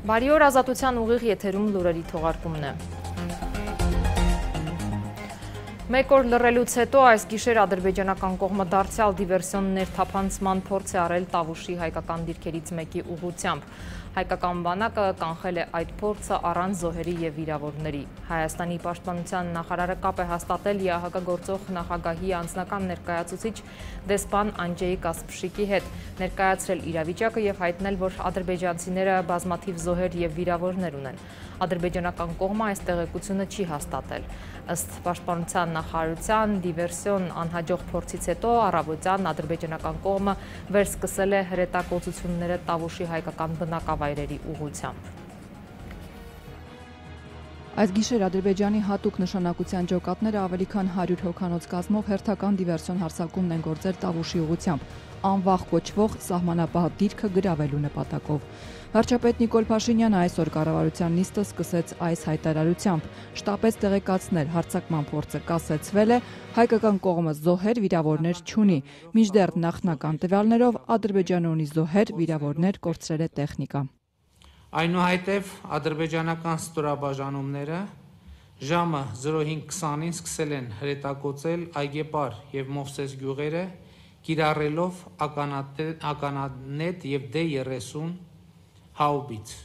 Բարի օր, Ազատության ուղիղ եթերում լուրերի թողարկումն է։ Մեկ օր լռելուց հետո այս գիշեր ադրբեջանական կողմը դարձյալ դիվերսիոն ներթափանցման փորձ է արել Տավուշի հայկական դիրքերից մեկի ուղղությամբ։ Հայկական բանակը կանխել է այդ փորձը առանց զոհերի և վիրավորների։ Հայաստանի պաշտպանության նախարարը կապ է հաստատել ԵԱՀԿ գործող նախագահի անձնական ներկայացուցիչ դեսպան Անջեյ Կասպշիկի հետ, ներկայացրել իրավիճակը և հայտնել, որ ադրբեջանցիները բազմաթիվ զոհեր և վիրավորներ ունեն։ Ադրբեջանական կողմը այս տեղեկությունը չի հաստատել։ Ըստ պաշտպանության նախարարության դիվերսիոն անհաջող փորձից հետո առավոտյան ադրբեջանական կողմը վերսկսել է հրետակոծությունները Տավուշի հայկական բնակավայրերի ուղղությամբ։ Այս գիշեր Ադրբեջանի հատուկ նշանակության ջոկատները ավելի քան 100 հոգանոց կազմով հերթական դիվերսիոն հարձակումն են գործել Տավուշի ուղղությամբ, անվախ կոչվող սահմանապահ դիրքը գրավելու նպատակով։ Վարչապետ Նիկոլ Փաշինյանը այսօր կառավարության նիստը սկսեց այս հայտարարությամբ, շտապեց տեղեկացնել հարձակման փորձը կասեցվել է, հայկական կողմը զոհեր, վիրավորներ չունի, մինչդեռ նախնական տվյալներով Ադրբեջանը ունի զոհեր, վիրավորներ, կորցրել է տեխնիկա։ Այնուհետև ադրբեջանական ստորաբաժանումները ժամը 05:20-ին սկսել են հրետակոծել Այգեպար և Մովսես գյուղերը, կիրառելով ականանետ և D-30 հաուբից։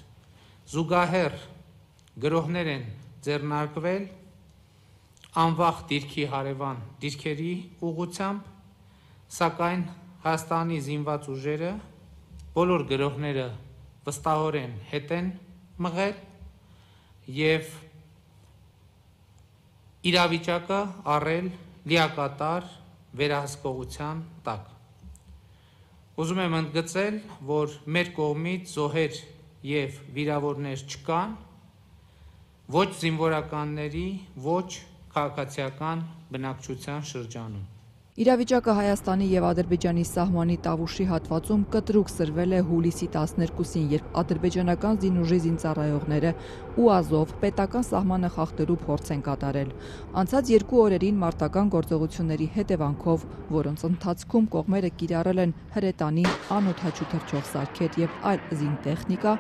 Զուգահեռ գրոհներ են ձեռնարկվել անվախ դիրքի հարևան դիրքերի ուղղությամբ, սակայն Հայաստանի զինված ուժերը բոլոր գրոհները վստահորեն հետ են մղել և իրավիճակը առել լիակատար վերահսկողության տակ։ Ուզում եմ ընդգծել, որ մեր կողմից զոհեր և վիրավորներ չկան, ոչ զինվորականների, ոչ քաղաքացիական բնակչության շրջանում։ Իրավիճակը Հայաստանի և Ադրբեջանի սահմանի Տավուշի հատվածում կտրուկ սրվել է հուլիսի 12-ին, երբ ադրբեջանական զինուժի զինծառայողները ու Ազով պետական սահմանը խախտելու փորձ են կատարել։ Անցած 2 օրերին մարտական գործողությունների հետևանքով, որոնց ընթացքում կողմերը կիրառել են հրետանի, անօդաչու թռչող սարքեր և այլ զինտեխնիկա,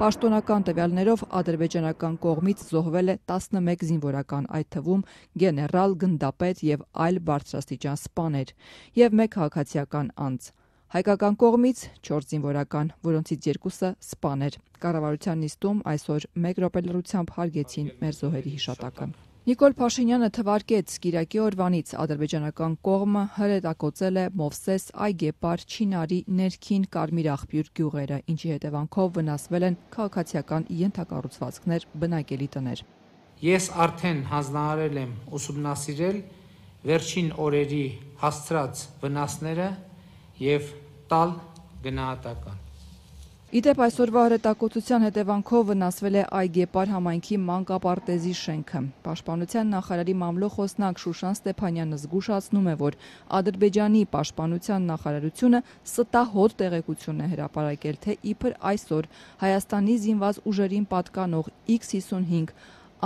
պաշտոնական տվյալներով ադրբեջանական կողմից զոհվել է 11 զինվորական, այդ թվում գեներալ, գնդապետ և այլ բարձրաստիճան սպաներ և 1 քաղաքացիական անձ։ Հայկական կողմից 4 զինվորական, որոնցից 2-ը սպաներ։ Կառավարության նիստում այսօր 1 րոպե լռությամբ հարգեցին մեր զոհերի հիշատակը։ Նիկոլ Փաշինյանը թվարկեց կիրակի օրվանից ադրբեջանական կողմը հրետակոծել է Մովսես, Այգեպար, Չինարի, Ներքին, Կարմիր աղբյուր գյուղերը, ինչի հետևանքով վնասվել են քաղաքացիական ենթակառուցվածքներ, բնակելի տներ։ Ես արդեն հանձնարարել եմ ուսումնասիրել վերջին օրերի հասցրած վնասները և տալ գնահատական։ Իդեպ այսօրվա հրետակոծության հետևանքով վնասվել է Այգեպար համայնքի մանկապարտեզի շենքը։ Պաշտպանության նախարարի մամլոխոսնակ Շուշան Ստեփանյանը զգուշացնում է, որ Ադրբեջանի պաշտպանության նախարարությունը ստահոդ տեղեկություն է հրապարակել, թե իբր այսօր Հայաստանի զինված ուժերին պատկանող X-55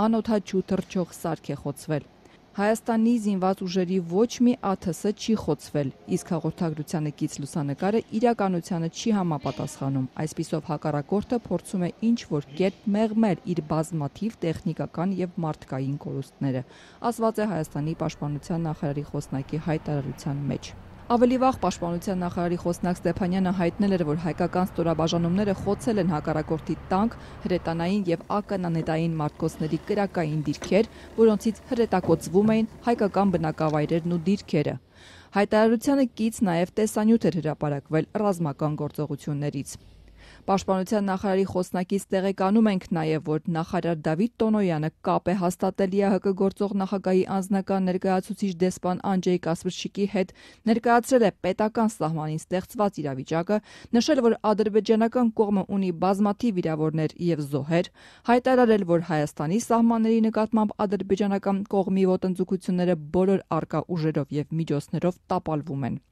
անօդաչու թռչող սարք է խոցվել։ Հայաստանի զինված ուժերի ոչ մի ԱԹՍ չի խոցվել, իսկ հաղորդագրությանը կից լուսանկարը իրականությանը չի համապատասխանում։ Այսպիսով հակառակորդը փորձում է ինչ-որ կերպ մեղմել իր բազմաթիվ տեխնիկական և մարդկային կորուստները, ասված է Հայաստանի պաշտպանության նախարարի խոսնակի հայտարարության մեջ։ Ավելի վաղ պաշտպանության նախարարի խոսնակ Ստեփանյանը հայտնել էր, որ հայկական ստորաբաժանումները խոցել են հակառակորդի տանկ, հրետանային և ականանետային մարտկոցների կրակային դիրքեր, որոնցից հրետակոծվում էին հայկական բնակավայրերն ու դիրքերը։ Հայտարարությանը կից նաև տեսանյութ էր հրապարակվել ռազմական գործողություններից։ Պաշտպանության նախարարի խոսնակից տեղեկանում ենք նաև, որ նախարար Դավիթ Տոնոյանը կապ է հաստատել ԵԱՀԿ գործող նախագահի անձնական ներկայացուցիչ դեսպան Անջեյ Կասպշիկի հետ, ներկայացրել է պետական սահմանին ստեղծված իրավիճակը, նշել, որ ադրբեջանական կողմը ունի բազմաթիվ վիրավորներ և զոհեր, հայտարարել, որ Հայաստանի սահմանների նկատմամբ ադրբեջանական կողմի ոտնձգությունները բոլոր առկա ուժերով և միջոցներով տապալվում են։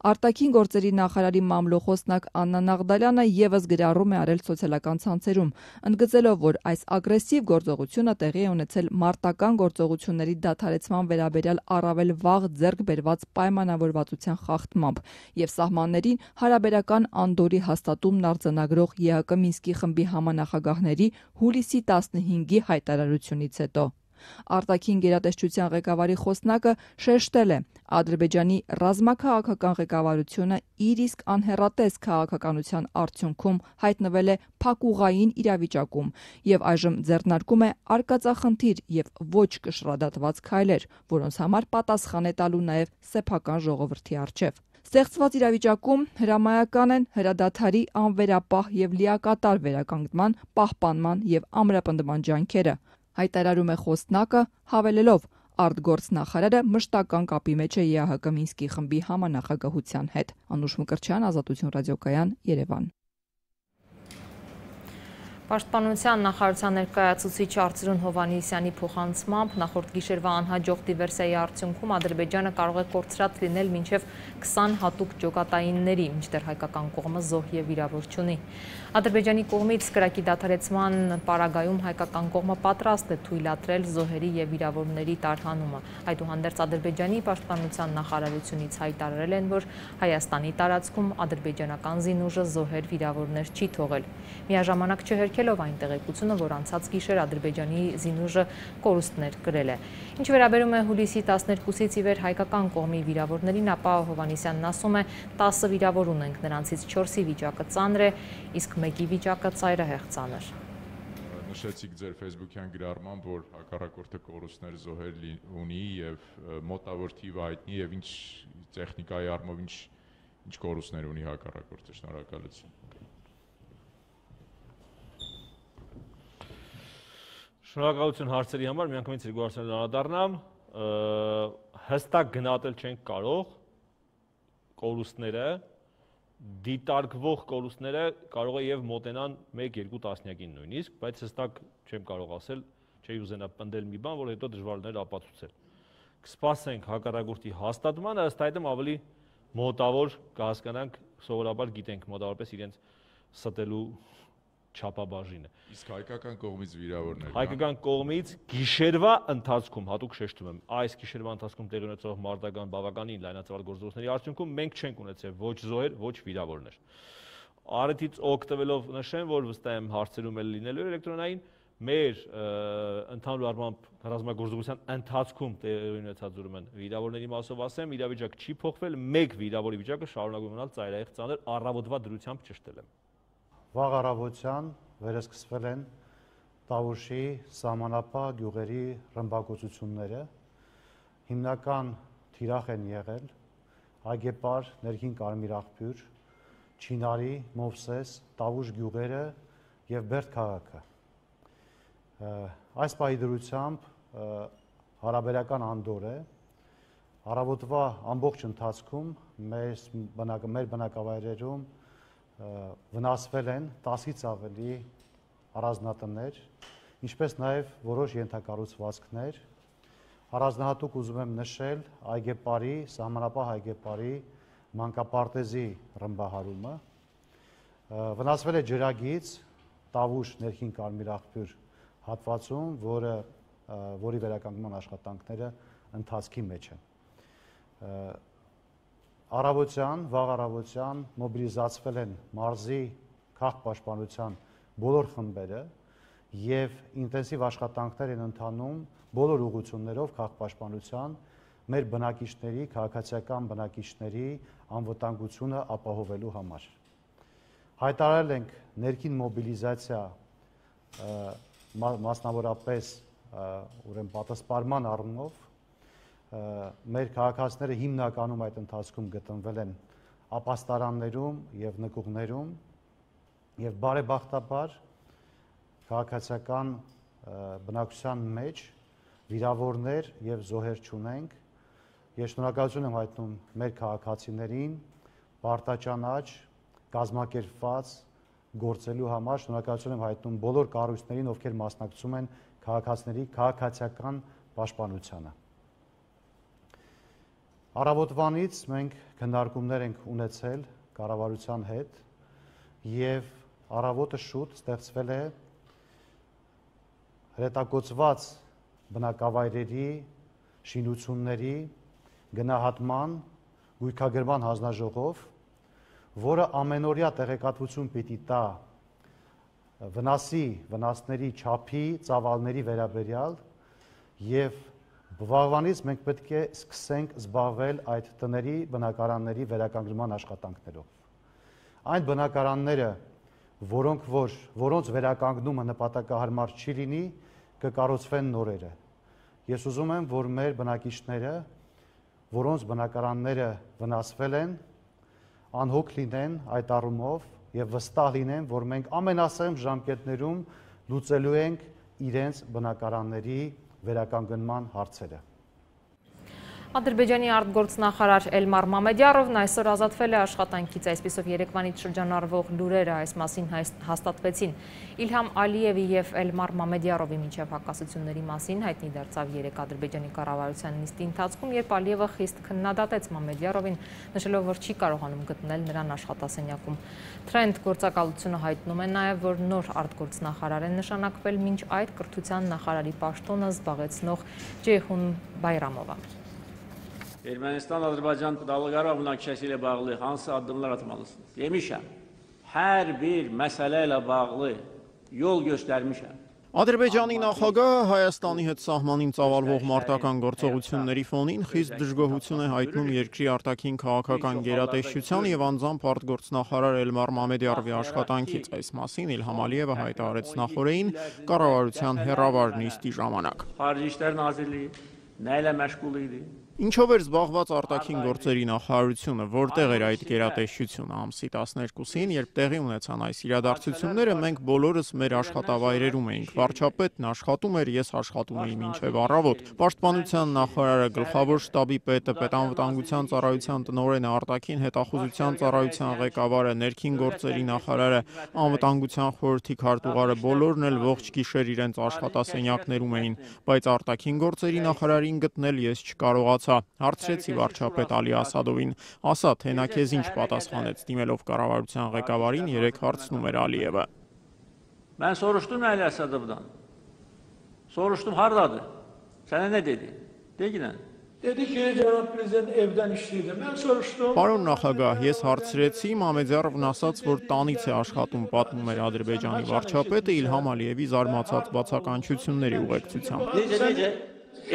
Արտաքին գործերի նախարարի մամլոխոսնակ Աննա Նաղդալյանը եւս գրառում է արել սոցիալական ցանցերում, ընդգծելով, որ այս ագրեսիվ գործողությունը տեղի է ունեցել մարտական գործողությունների դադարեցման վերաբերյալ առավել վաղ ձեռք բերված պայմանավորվածության խախտմամբ եւ սահմաններին հարաբերական անդորի հաստատումն արձանագրող ԵԱԿ Մինսկի խմբի համանախագահների հուլիսի 15-ի հայտարարությունից հետո։ Արտաքին գերատեսչության ղեկավարի խոսնակը շեշտել է, Ադրբեջանի ռազմաքաղաքական ղեկավարությունը իր իսկ անհեռատես քաղաքականության արդյունքում հայտնվել է փակուղային իրավիճակում եւ այժմ ձեռնարկում է արկածախնդիր եւ ոչ կշռադատված քայլեր, որոնց համար պատասխան է տալու նաեւ սեփական ժողովրդի առջեւ։ Ստեղծված իրավիճակում հրամայական են հրադադարի անվերապահ եւ լիակատար վերականգնման, պահպանման եւ ամրապնդման ջանքերը, հայտարարում է խոսնակը, հավելելով, արտգործնախարարը մշտական կապի մեջ է ԵԱՀԿ Մինսկի խմբի համանախագահության հետ։ Անուշ Մկրտչյան, Ազատություն ռադիոկայան, Երևան։ Պաշտպանության նախարարության ներկայացուցիչ Արծրուն Հովհաննիսյանի փոխանցմամբ նախորդ գիշերվա անհաջող դիվերսիայի արդյունքում Ադրբեջանը կարող է կորցրած լինել մինչև 20 հատուկ ջոկատայինների, մինչդեռ հայկական կողմը զոհ եւ վիրավոր չունի։ Ադրբեջանի կողմից կրակի դադարեցման պարագայում հայկական կողմը պատրաստ է թույլատրել զոհերի եւ վիրավորների տարհանումը։ Այդուհանդերձ Ադրբեջանի պաշտպանության նախարարությունից հայտարարել են, որ Հայաստանի տարածքում ադրբեջանական զինուժը զոհեր վիրավորներ չի թողել։ Միաժամանակ չհերքելով այն տեղեկությունը, որ անցած գիշեր Ադրբեջանի զինուժը կորուստներ կրել է։ Ինչ վերաբերում է հուլիսի 12-ից ի վեր հայկական կողմի վիրավորներին, ապա Հովհաննիսյանն ասում է 10 վիրավոր ունենք, նրանցից 4-ի վիճակը ծանր է, իսկ մեկի վիճակը ծայրահեղ ծանր։ Նշեցիք ձեր Facebook-յան գրառմամբ, որ հակառակորդը կորուստներ զոհեր ունի եւ մոտավոր թիվը հայտնի եւ ինչ տեխնիկայի առումով ինչ կորուստներ ունի հակառակորդը։ Շնորհակալություն։ Շնորհակալություն հարցերի համար, միանգամից երկու հարցերն անդառնամ, հստակ գնահատել չենք կարող կորուստները, դիտարկվող կորուստները կարող է եւ մոտենան 1-2 տասնյակին նույնիսկ, բայց հստակ չեմ կարող ասել, չի ուզենա պնդել մի բան, որ հետո դժվարներ ապացուցել։ Կսպասենք հակառակորդի հաստատմանը, ըստ այդմ ավելի մոտավոր կհասկանանք, սովորաբար գիտենք մոտավորապես իրենց ստելու չափաբաժինը։ Իսկ հայկական կողմից վիրավորներ։ Հայկական կողմից գիշերվա ընթացքում, հատուկ շեշտում եմ, այս գիշերվա ընթացքում տեղի ունեցող մարտական բավականին լայնածավալ գործողությունների արդյունքում մենք չենք ունեցել ոչ զոհեր, ոչ վիրավորներ։ Առիթից օգտվելով նշեմ, որ վստահ եմ հարցերում էլ լինելու էլեկտրոնային մեր ընդհանուր առմամբ ռազմագործողության ընթացքում տեղի ունեցած ուրեմն վիրավորների մասով ասեմ, իրավիճակ չի փոխվել, մեկ վիրավորի վիճակը շարունակում մնալ ծայրահեղ ծանր, առավոտվա դրությամբ ճշտել եմ։ Վաղ առավոտյան վերսկսվել են Տավուշի սահմանապահ գյուղերի ռմբակոծությունները, հիմնական թիրախ են եղել Այգեպար, Ներքին Կարմիր աղբյուր, Չինարի, Մովսես, Տավուշ գյուղերը եւ Բերդ քաղաքը։ Այս պահի դրությամբ հարաբերական անդոր է, առավոտվա ամբողջ ընթացքում մեր բնակավայրերում վնասվել են 10-ից ավելի առանձնատներ, ինչպես նաև որոշ ենթակառուցվածքներ։ Առանձնահատուկ ուզում եմ նշել Այգեպարի, սահմանապահ Այգեպարի մանկապարտեզի ռմբահարումը։ Վնասվել է ջրագիծ Տավուշ Ներքին Կարմիր աղբյուր հատվածում, որի վերականգնման աշխատանքները ընթացքի մեջ են։ Վաղ առավոտյան մոբիլիզացվել են մարզի քաղաքապաշտպանության բոլոր խմբերը եւ ինտենսիվ աշխատանքներ են ընթանում բոլոր ուղղություններով քաղաքապաշտպանության մեր բնակիչների, քաղաքացիական բնակիչների անվտանգությունը ապահովելու համար։ Հայտարարել ենք ներքին մոբիլիզացիա մասնավորապես ուրեմն պատասխանման առումով մեր քաղաքացիները հիմնականում այդ ընթացքում գտնվել են ապաստարաններում եւ նկուղներում եւ բարեբախտաբար քաղաքացիական բնակչության մեջ վիրավորներ եւ զոհեր չունենք։ Ես շնորհակալություն եմ հայտնում մեր քաղաքացիներին պարտաճանաչ կազմակերպված գործելու համար, շնորհակալություն եմ հայտնում բոլոր կառույցներին, ովքեր մասնակցում են քաղաքացիների քաղաքացիական պաշտպանությանը։ Առավոտվանից մենք քննարկումներ ենք ունեցել կառավարության հետ եւ առավոտը շուտ ստեղծվել է հրետակոծված բնակավայրերի շինությունների գնահատման գույքագրման հանձնաժողով, որը ամենօրյա տեղեկատվություն պիտի տա վնասների չափի, ծավալների վերաբերյալ եւ բավականից մենք պետք է սկսենք զբաղվել այդ տների բնակարանների վերականգնման աշխատանքներով։ Այն բնակարանները, որոնց վերականգնումը նպատակահարմար չի լինի, կկառուցվեն նորերը։ Ես ուզում եմ, որ մեր բնակիչները, որոնց բնակարանները վնասվել են, անհոգ լինեն այդ առումով եւ վստահ լինեն, որ մենք ամենասեմ ժամկետներում լուծելու ենք իրենց բնակարանների վերականգնման հարցերը։ Ադրբեջանի արտգործնախարար Էլմար Մամեդյարովն այսօր ազատվել է աշխատանքից, այսպիսով երեկվանից շրջանառվող լուրերը այս մասին հաստատվեցին։ Իլհամ Ալիևի եւ Էլմար Մամեդյարովի միջև հակասությունների մասին հայտնի դարձավ երեկ Ադրբեջանի կառավարության նիստի ընթացքում, երբ Ալիևը խիստ քննադատեց Մամեդյարովին, նշելով, որ չի կարողանում գտնել նրան աշխատասենյակում։ Թրենդ գործակալությունը հայտնում է նաեւ, որ նոր արտգործնախարար է նշանակվել մինչ այդ կրթության նախարարի պաշտոնը զբաղեցնող Ceyhun Bayramova։ Ermənistan-Azərbaycan dialoqları münaqişəsi ilə bağlı hansı addımlar atmalısınız? Demişəm, hər bir məsələ ilə bağlı yol göstərmişəm. Ադրբեջանի նախագահը Հայաստանի հետ սահմանին ծավալվող մարտական գործողությունների ֆոնին խիստ դժգոհություն է հայտնում երկրի արտաքին քաղաքական գերատեսչության եւ անձամբ արտգործնախարար Էլմար Մամեդյարովի աշխատանքից։ Այս մասին Իլհամ Ալիևը հայտարարեց նախորդին կառավարության հեռավար նիստի ժամանակ։ Xarici İşlər Nazirliyi nə ilə məşğul idi? Ինչով էր զբաղված արտաքին գործերի նախարարությունը, որտեղ էր այդ գերատեսչությունը ամսի 12-ին, երբ տեղի ունեցան այս իրադարձությունները, մենք բոլորս մեր աշխատավայրերում էինք։ Վարչապետն աշխատում էր, ես աշխատում էի մինչև առավոտ։ Պաշտպանության նախարարը, գլխավոր շտաբի պետը, պետանվտանգության ծառայության տնօրենը, արտաքին հետախուզության ծառայության ղեկավարը, ներքին գործերի նախարարը, անվտանգության խորհրդի քարտուղարը բոլորն էլ ողջ գիշեր իրենց աշխատասենյակներում էին, բայց արտաքին գործերի նախարարին գտնել ես չկարողացա։ Հարցրեցի վարչապետ Ալի Ասադովին, ասա, թե նա քեզ ինչ պատասխանեց, դիմելով կառավարության ղեկավարին երեք հարցնում էր Ալիևը։ Mən soruşdum Əli Əsədovdan. Soruşdum hardadır? Sənə nə dedi? Deyilən. Dedi ki, cənab prezident evdən işləyirdi. Mən soruşdum. Պարոն նախագահ, ես հարցրեցի, Մամեդյարովն ասաց, որ տանից է աշխատում, պատմում էր Ադրբեջանի վարչապետը Իլհամ Ալիևի զարմացած բացականչությունների ուղեկցությամբ։ Necə?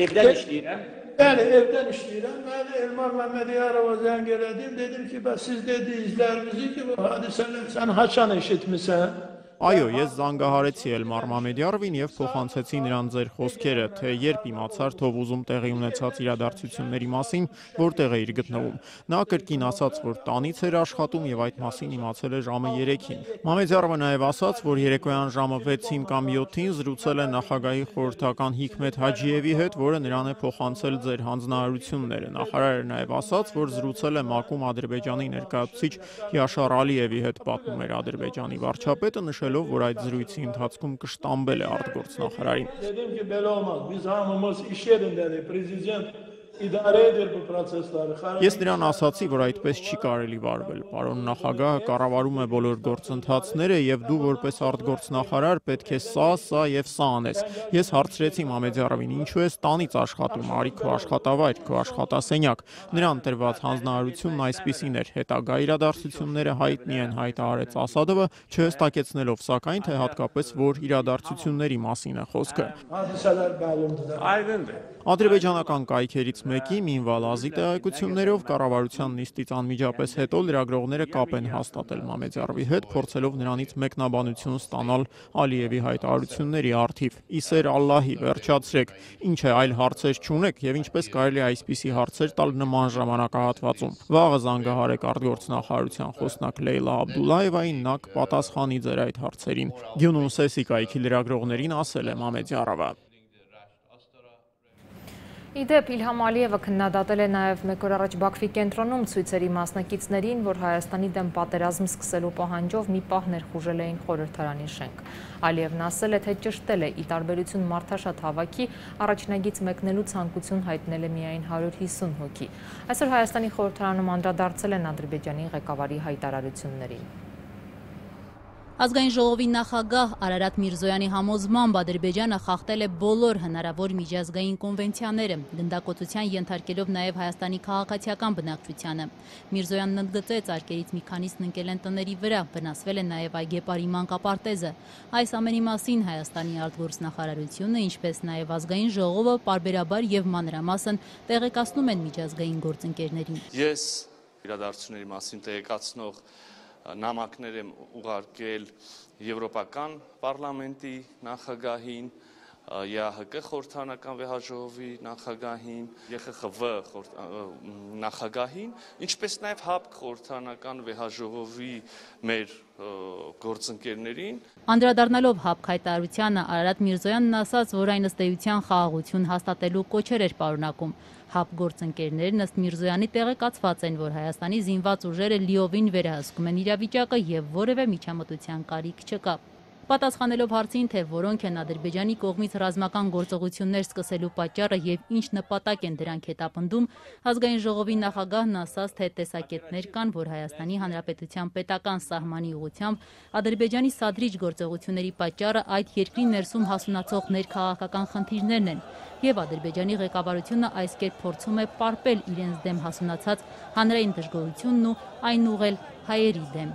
Evdən işləyirəm. Bəli, evdən işləyirəm. Mən Elmar Məmmədiyarova zəng elədim. Dedim ki, siz dediyizlərinizi ki, bu hadisələr sən haçan eşitmisən? Այո, ես զանգահարեցի Էլմար Մամեդյարովին եւ փոխանցեցի նրան ձեր խոսքերը, թե երբ իմացար Թովուզում տեղի ունեցած իրադարձությունների մասին, որտեղ էիր գտնվում։ Նա կրկին ասաց, որ տանից էր աշխատում եւ այդ մասին իմացել է ժամը 3-ին։ Մամեդյարովը նաեւ ասաց, որ երեկոյան ժամը 6-ին կամ 7-ին զրուցել է նախագահի խորհրդական Հիկմետ Հաջիևի հետ, որը նրան է փոխանցել ձեր հանձնարարությունները։ Նախարարը նաեւ ասաց, որ զրուցել է ՄԱԿ-ում Ադրբեջանի ներկայացուցիչ Յաշար Ալիևի հետ, պատմում էր Ադրբեջանի վարչապետը, նշելով, որ այդ զրույցի ընթացքում կշտամբել է արտգործնախարարին։ Dedim ki, belə olmaz. Biz hamımız iş yerindədik. Prezident İdarə edir bu prosesləri. Ես նրան ասացի, որ այդպես չի կարելի վարվել։ Պարոն նախագահը կառավարում է բոլոր գործընթացները եւ դու որպես արտգործնախարար պետք է սա եւ սա անես։ Ես հարցրեցի Մամեդյարովին, ինչու ես տանից աշխատում, արի քո աշխատավայր, քո աշխատասենյակ։ Նրան տրված հանձնարարությունն այսպիսին էր. հետագա իրադարձությունները հայտնի են, հայտարարեց Ասադովը, չհստակեցնելով սակայն, թե հատկապես որ իրադարձությունների մասին է խոսքը։ Hadisələr məlumdur. Aydındır. Ադրբեջանական կայքերից մեկի Մինվալ Ազի տեղեկություններով կառավարության նիստից անմիջապես հետո լրագրողները կապ են հաստատել Մամեդյարովի հետ, փորձելով նրանից մեկնաբանություն ստանալ Ալիևի հայտարարությունների առթիվ։ Իսեր Ալլահի, վերջացրեք, ինչ է այլ հարցեր չունեք եւ ինչպես կարելի է այսպիսի հարցեր տալ նման ժամանակահատվածում։ Վաղը զանգահարեք արտգործնախարարության խոսնակ Լեյլա Աբդուլլայևային, նա կպատասխանի ձեր այդ հարցերին։ Գյունուն Սեսի կայքի լրագրողներին ասել է Մամեդյարովը։ Իդեպ Իլհամ Ալիևը քննադատել է նաև մեկ օր առաջ Բաքվի կենտրոնում ցույցերի մասնակիցներին, որ Հայաստանի դեմ պատերազմ սկսելու պահանջով մի պահ ներխուժել էին խորհրդարանի շենք։ Ալիևն ասել է, թե ճշտել է ի տարբերություն մարդաշատ հավաքի, առաջնագից մեկնելու ցանկություն հայտնել է միայն 150 հոգի։ Այսօր Հայաստանի խորհրդարանում անդրադարձել են Ադրբեջանի ղեկավարի հայտարարություններին։ Ազգային ժողովի նախագահ Արարատ Միրզոյանի համոզմամբ Ադրբեջանը խախտել է բոլոր հնարավոր միջազգային կոնվենցիաները, գնդակոծության ենթարկելով նաև Հայաստանի քաղաքացիական բնակչությանը։ Միրզոյանն ընդգծեց, արկերից մի քանիսն ընկել են տների վրա, վնասվել է նաև այգեպարի մանկապարտեզը։ Այս ամենի մասին Հայաստանի արտգործնախարարությունը, ինչպես նաև ազգային ժողովը պարբերաբար եւ մանրամասն տեղեկացնում են միջազգային գործընկերներին։ Ես իրադարձությունների մասին տեղեկացնող նամակներ եմ ուղարկել Եվրոպական պարլամենտի նախագահին, ԵԱՀԿ խորհրդարանական վեհաժողովի նախագահին, ԵԽԽՎ նախագահին, ինչպես նաև ՀԱՊԿ խորհրդարանական վեհաժողովի մեր գործընկերներին։ Անդրադառնալով ՀԱՊԿ հայտարարությանը Արարատ Միրզոյանն ասաց, որ այն ըստ էության խաղաղություն հաստատելու կոչեր էր պարունակում։ ՀԱՊԿ գործընկերներն ըստ Միրզոյանի տեղեկացված են, որ Հայաստանի զինված ուժերը լիովին վերահսկում են իրավիճակը եւ որևէ միջամտության կարիք չկա։ Պատասխանելով հարցին, թե որոնք են Ադրբեջանի կողմից ռազմական գործողություններ սկսելու պատճառը եւ ինչ նպատակ են դրանք հետապնդում, ազգային ժողովի նախագահն ասաց, թե տեսակետներ կան, որ Հայաստանի Հանրապետության պետական սահմանի ուղղությամբ Ադրբեջանի սադրիչ գործողությունների պատճառը այդ երկրի ներսում հասունացող ներքաղաքական խնդիրներն են, եւ Ադրբեջանի ղեկավարությունը այս կերպ փորձում է պարպել իրենց դեմ հասունացած հանրային դժգոհությունն ու այն ուղղել հայերի դեմ։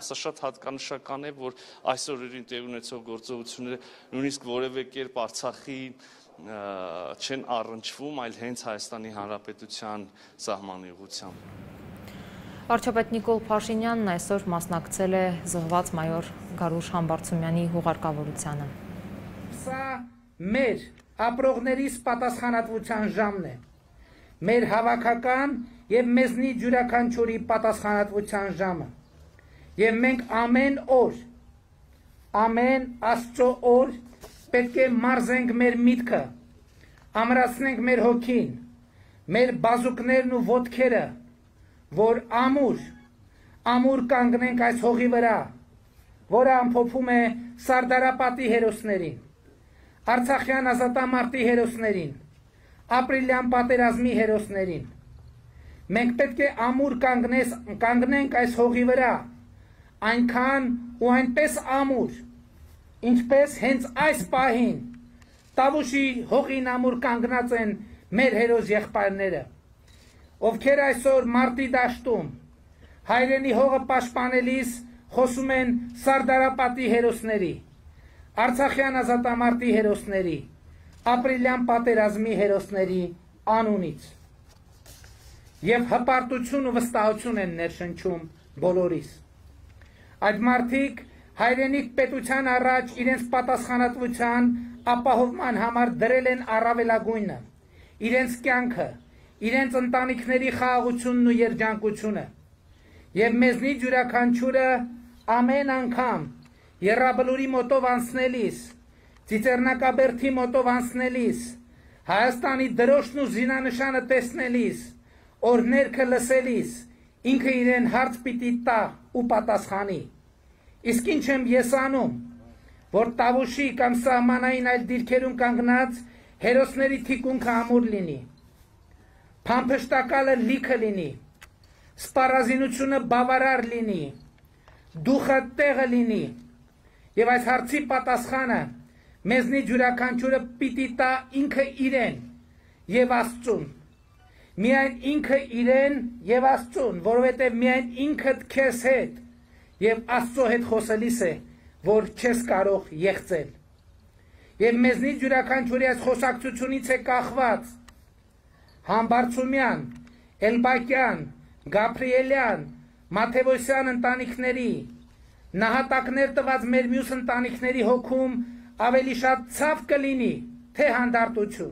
Սա շատ հատկանշական է, որ այս օրերին տեղի ունեցող գործողությունները նույնիսկ որևէ կերպ Արցախի չեն առնչվում, այլ հենց Հայաստանի Հանրապետության սահմանի ուղղությամբ։ Վարչապետ Նիկոլ Փաշինյանն այսօր մասնակցել է զոհված մայոր Գարուշ Համբարձումյանի հուղարկավորությանը։ Սա մեր ապրողներիս պատասխանատվության ժամն է։ Մեր հավաքական եւ մեզնից յուրաքանչյուրի պատասխանատվության ժամը։ Եվ մենք ամեն օր, ամեն Աստծո օր պետք է մարզենք մեր միտքը, ամրացնենք մեր հոգին, մեր բազուկներն ու ոտքերը, որ ամուր կանգնենք այս հողի վրա, որը ամփոփում է Սարդարապատի հերոսներին, Արցախյան ազատամարտի հերոսներին, ապրիլյան պատերազմի հերոսներին։ Մենք պետք է ամուր կանգնենք այս հողի վրա, այնքան ու այնպես ամուր, ինչպես հենց այս պահին Տավուշի հողին ամուր կանգնած են մեր հերոս եղբայրները, ովքեր այսօր մարտի դաշտում հայրենի հողը պաշտպանելիս խոսում են Սարդարապատի հերոսների, Արցախյան ազատամարտի հերոսների, ապրիլյան պատերազմի հերոսների անունից։ Եվ հպարտություն ու վստահություն են ներշնչում բոլորիս։ Այդ մարդիկ հայրենիք պետության առաջ իրենց պատասխանատվության ապահովման համար դրել են առավելագույնը, իրենց կյանքը, իրենց ընտանիքների խաղաղությունն ու երջանկությունը։ Եվ մեզնից յուրաքանչյուրը ամեն անգամ Եռաբլուրի մոտով անցնելիս, Ծիծեռնակաբերդի մոտով անցնելիս, Հայաստանի դրոշն ու զինանշանը տեսնելիս, օրհներգը լսելիս, ինքը իրեն հարց պիտի տա ու պատասխանի։ Իսկ ինչ եմ ես անում, որ Տավուշի կամ սահմանային այլ դիրքերում կանգնած հերոսների թիկունքը ամուր լինի, փամփշտակալը լիքը լինի, սպառազինությունը բավարար լինի, դուխը տեղը լինի, եւ այս հարցի պատասխանը մեզնից յուրաքանչյուրը պիտի տա ինքը իրեն եւ Աստծուն։ Միայն ինքը իրեն եւ Աստծուն, որովհետեւ միայն ինքդ քեզ հետ եւ Աստծո հետ խոսելիս է, որ չես կարող եղծել։ Եվ մեզնից յուրաքանչյուրի այս խոսակցությունից է կախված Համբարձումյան, Էլբակյան, Գաբրիելյան, Մաթեոսյան ընտանիքների, նահատակներ տված մեր մյուս ընտանիքների հոգում ավելի շատ ցավ կլինի, թե հանդարտություն,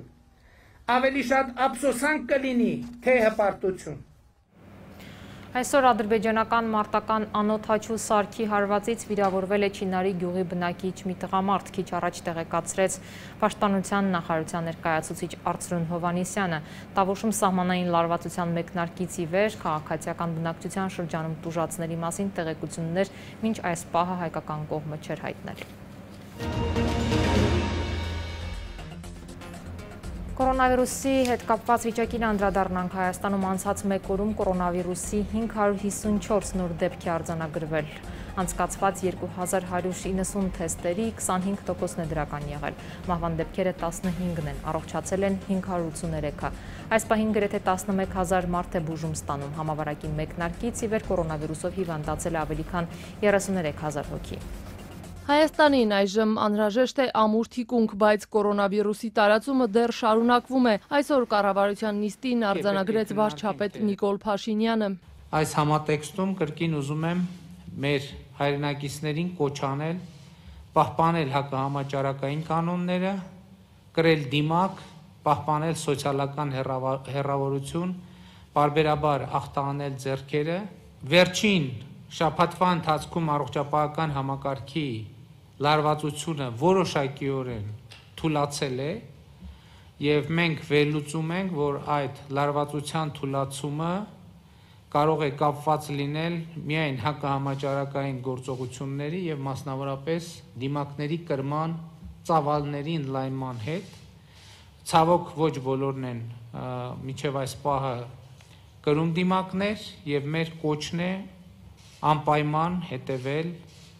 ավելի շատ ափսոսանք կլինի, թե հպարտություն։ Այսօր ադրբեջանական մարտական անոթ հաչու սարքի հարվածից վիրավորվել է Չինարի գյուղի բնակիչ մի տղամարդ, քիչ առաջ տեղեկացրեց Պաշտպանության նախարարության ներկայացուցիչ Արծրուն Հովհաննիսյանը։ Տավուշում սահմանային լարվածության մեկնարկից ի վեր քաղաքացիական բնակչության շրջանում տուժածների մասին տեղեկություններ մինչ այս պահը հայկական կողմը չէր հայտնել։ Կորոնավիրուսի հետ կապված վիճակին անդրադառնանք Հայաստանում անցած մեկ օրում կորոնավիրուսի 554 նոր դեպք է արձանագրվել։ Անցկացված 2190 թեստերի 25%-ն է դրական եղել։ Մահվան դեպքերը 15-ն են, առողջացել են 583-ը։ Այս պահին գրեթե 11000 մարդ է բուժում ստանում։ Համավարակի մեկնարկից ի վեր կորոնավիրուսով հիվանդացել է ավելի քան 33000 հոգի։ Հայաստանին այժմ անհրաժեշտ է ամուր թիկունք, բայց կորոնավիրուսի տարածումը դեռ շարունակվում է։ Այսօր կառավարության նիստին արձանագրեց վարչապետ Նիկոլ Փաշինյանը։ Այս համատեքստում կրկին ուզում եմ մեր հայրենակիցներին կոչ անել, պահպանել հակահամաճարակային կանոնները, կրել դիմակ, պահպանել սոցիալական հեռավորություն, պարբերաբար ախտահանել ձեռքերը, վերջին շաբաթվա ընթացքում առողջապահական համակարգի լարվածությունը որոշակիորեն թուլացել է եւ մենք վերլուծում ենք, որ այդ լարվածության թուլացումը կարող է կապված լինել միայն հակահամաճարակային գործողությունների եւ մասնավորապես դիմակների կրման ծավալների ընդլայնման հետ։ Ցավոք ոչ բոլորն են մինչեւ այս պահը կրում դիմակներ եւ մեր կոչն է անպայման հետևել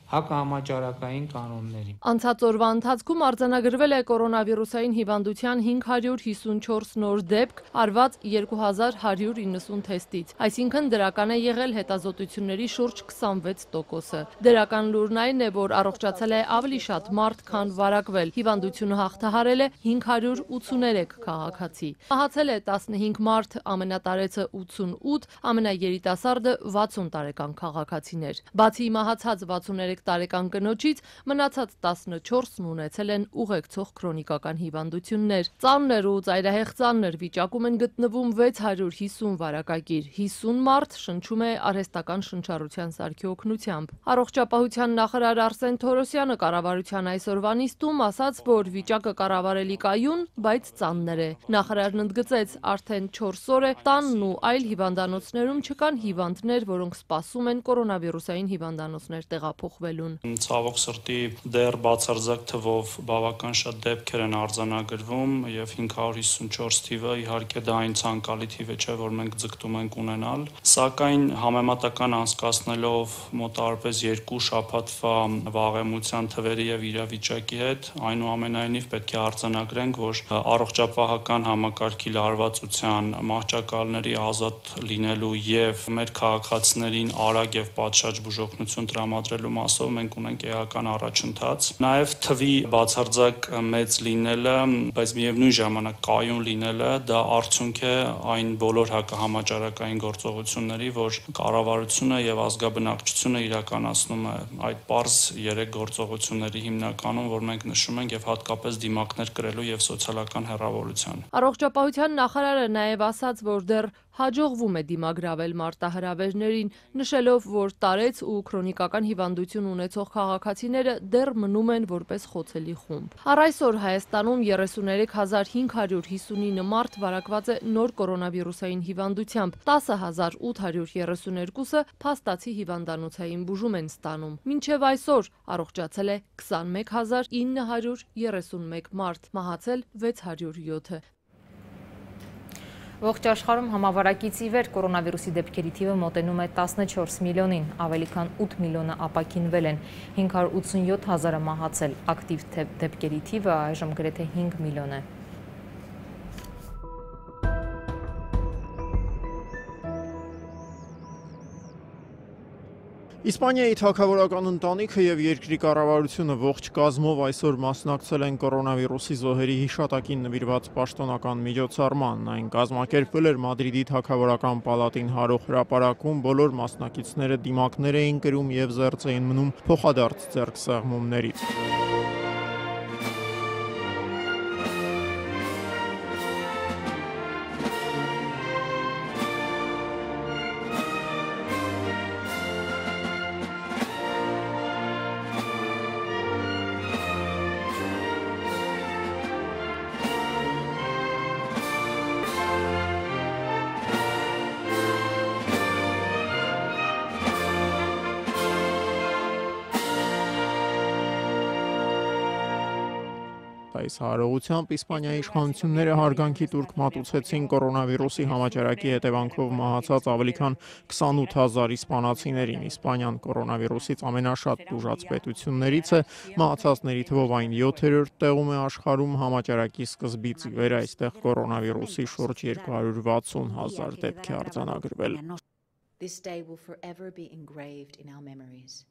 հակահամաճարակային կանոններին։ Անցած օրվա ընթացքում արձանագրվել է կորոնավիրուսային հիվանդության 554 նոր դեպք, արված 2190 թեստից, այսինքն դրական է եղել հետազոտությունների շուրջ 26%-ը։ Դրական լուրն այն է, որ առողջացել է ավելի շատ մարդ, քան վարակվել։ Հիվանդությունը հաղթահարել է 583 քաղաքացի։ Մահացել է 15 մարդ, ամենատարեցը 88, ամենաերիտասարդը 60 տարեկան քաղաքացիներ։ Բացի մահացած 63 տարեկան կնոջից մնացած 14-ն ունեցել են ուղեկցող քրոնիկական հիվանդություններ։ Ծանր ու ծայրահեղ ծանր վիճակում են գտնվում 650 վարակագիր, 50 մարդ շնչում է արհեստական շնչառության սարքի օգնությամբ։ Առողջապահության նախարար Արսեն Թորոսյանը կառավարության այսօրվա նիստում ասաց, որ վիճակը կառավարելի կայուն, բայց ծանր է։ Նախարարն ընդգծեց, արդեն 4 օր է տանն ու այլ հիվանդանոցներում չկան հիվանդներ, որոնք սպասում են կորոնավիրուսային հիվանդանոցներ տեղափոխվելուն։ Ցավոք սրտի դեռ բացարձակ թվով բավական շատ դեպքեր են արձանագրվում եւ 554 թիվը իհարկե դա այն ցանկալի թիվ է, չէ, որ մենք ձգտում ենք ունենալ, սակայն համեմատական անցկացնելով մոտավորապես 2 շաբաթվա վաղեմության թվերի եւ իրավիճակի հետ, այնուամենայնիվ պետք է արձանագրենք, որ առողջապահական համակարգի լարվածության, մահճակալների ազատ լինելու եւ մեր քաղաքացիներին արագ եւ պատշաճ բուժօգնություն տրամադրելու մասով մենք ունենք էական առաջընթաց։ Նաև թվի բացարձակ մեծ լինելը, բայց միևնույն ժամանակ կայուն լինելը, դա արդյունք է այն բոլոր հակահամաճարակային գործողությունների, որ կառավարությունը եւ ազգաբնակչությունը իրականացնում է այդ պարզ 3 գործողությունների հիմնականում, որ մենք նշում ենք եւ հատկապես դիմակներ կրելու եւ սոցիալական հեռավորության։ Առողջապահության նախարարը նաև ասաց, որ դեռ հաջողվում է դիմագրավել մարտահրավերներին, նշելով, որ տարեց ու քրոնիկական հիվանդություն ունեցող քաղաքացիները դեռ մնում են որպես խոցելի խումբ։ Առ այսօր Հայաստանում 33559 մարդ վարակված է նոր կորոնավիրուսային հիվանդությամբ, 10832-ը փաստացի հիվանդանոցային բուժում են ստանում։ Մինչև այսօր առողջացել է 21931 մարդ, մահացել 607-ը։ Ողջ աշխարհում համավարակից ի վեր կորոնավիրուսի դեպքերի թիվը մոտենում է 14 միլիոնին, ավելի քան 8 միլիոնը ապաքինվել են, 587 000-ը մահացել, ակտիվ դեպքերի թիվը այժմ գրեթե 5 միլիոն է։ Իսպանիայի թագավորական ընտանիքը եւ երկրի կառավարությունը ողջ կազմով այսօր մասնակցել են կորոնավիրուսի զոհերի հիշատակին նվիրված պաշտոնական միջոցառման։ Այն կազմակերպվել էր Մադրիդի թագավորական պալատին հարող հրապարակում, բոլոր մասնակիցները դիմակներ էին կրում եւ զերծ էին մնում փոխադարձ ձեռքսեղմումներից։ Այս հարողությամբ Իսպանիայի իշխանությունները հարգանքի տուրք մատուցեցին կորոնավիրուսի համաճարակի հետևանքով մահացած ավելի քան 28,000 իսպանացիներին։ Իսպանիան կորոնավիրուսից ամենաշատ տուժած պետություններից է, մահացածների թվով այն 7-րդ տեղում է աշխարհում, համաճարակի սկզբից ի վեր այստեղ կորոնավիրուսի շուրջ 260,000 դեպք է արձանագրվել։ This day will forever be engraved in our memories.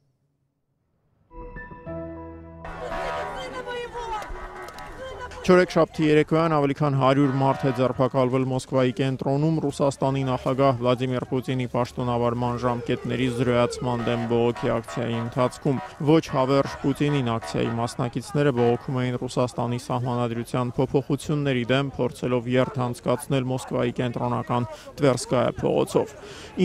Չորեքշաբթի երեկոյան ավելի քան 100 մարդ է ձերբակալվել Մոսկվայի կենտրոնում Ռուսաստանի նախագահ Վլադիմիր Պուտինի պաշտոնավարման ժամկետների զրոյացման դեմ բողոքի ակցիայի ընթացքում։ Ոչ հավերժ Պուտինին ակցիայի մասնակիցները բողոքում էին Ռուսաստանի սահմանադրության փոփոխությունների դեմ, փորձելով երթ անցկացնել Մոսկվայի կենտրոնական Տվերսկայա փողոցով։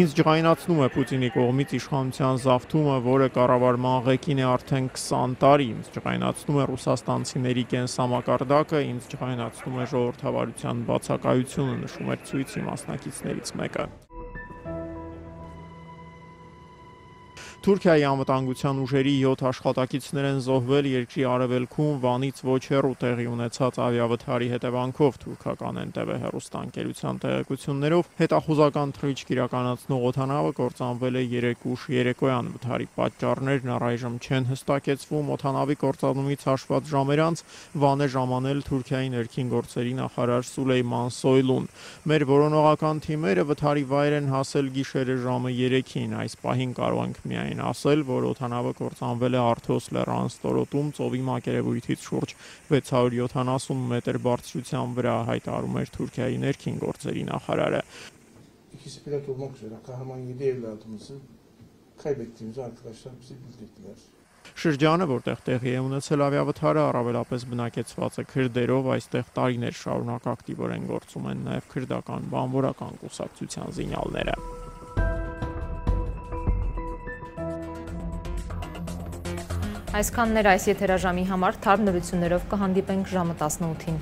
Ինձ ջղայնացնում է Պուտինի կողմից իշխանության զավթումը, որը կառավարման ղեկին է արդեն 20 տարի։ Ինձ ջղայնացնում է ռուսաստանցիների կենսամակարդակը, ինձ ջղայնացնում է ժողովրդավարության բացակայությունը, նշում էր ցույցի մասնակիցներից մեկը։ Թուրքիայի անվտանգության ուժերի 7 աշխատակիցներ են զոհվել երկրի արևելքում Վանից ոչ հեռու տեղի ունեցած ավիավթարի հետևանքով, թուրքական NTV հեռուստաընկերության տեղեկություններով հետախուզական թռիչք իրականացնող օդանավը կործանվել է 3 ուշ երեկոյան։ Վթարի պատճառներն առայժմ չեն հստակեցվում։ Օդանավի կործանումից հաշված ժամեր անց Վան է ժամանել Թուրքիայի ներքին գործերի նախարար Սուլեյման Սոյլուն։ Մեր որոնողական թիմերը վթարի վայր են հասել գիշերը ժամը 3-ին։ Այս պահին կարող ենք միայն ասել, որ օդանավը կործանվել է Արթոս լեռան ստորոտում ծովի մակերևույթից շուրջ 670 մետր բարձրության վրա, հայտարարում էր Թուրքիայի ներքին գործերի նախարարը։ İkisi pilot olmak üzere kahraman 7 evladımızı kaybettiğimizi arkadaşlar bize bildirdiler. Շրջանը, որտեղ տեղի է ունեցել ավիավթարը, առավելապես բնակեցված է քրդերով, այստեղ տարիներ շարունակ ակտիվորեն գործում են նաև քրդական բանվորական կուսակցության զինյալները։ Այսքանն էր այս եթերաժամի համար, թարմ նորություններով կհանդիպենք ժամը 18-ին։